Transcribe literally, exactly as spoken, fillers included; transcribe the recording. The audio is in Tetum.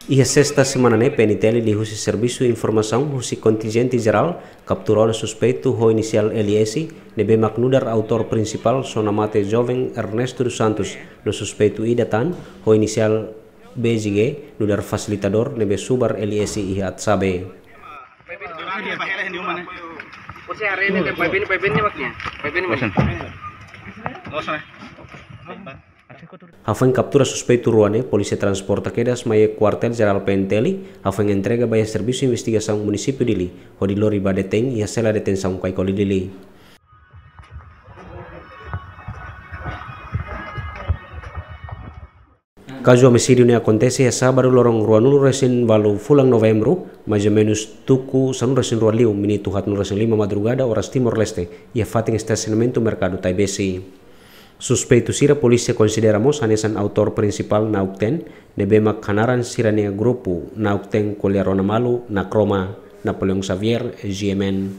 Iha sesta semana ne'e, P N T L liuhusi servisu informasaun husi kontinjente jerál kaptura ona suspeitu ho inisiál L S, ne'ebé mak nu'udar autór prinsipál, sona mate joven Ernesto dos Santos, no suspeitu ida tan ho inisiál B J G, nu'udar fasilitadór ne'ebé subar L S iha Atsabe. Hafoin kaptura suspeitu rua ne'e, polísia transporta kedas mai iha Kuartél Jerál P N T L, hafoin entrega ba iha Servisu Investigasaun Munisípiu Dili, hodi lori ba detein iha sela detensaun Kaikoli Dili. Kazu omisídiu ne'e akontese iha sábadu loron ruanulu-resin-valu fulan Novembru, mais ou menus tuku sanulu-resin-rua liu, minutu haatnulu-resin-lima madrugada, oras Timor-Leste, iha fatin estasionamentu Merkadu Taibesi. Suspeitu sira polísia konsidera mós hanesan autór prinsipál Naukten, ne'ebé mak hanaran sira-nia grupu Naukten Ko'alia Rona Malu, Nakroma, Napoleão Xavier, G M N.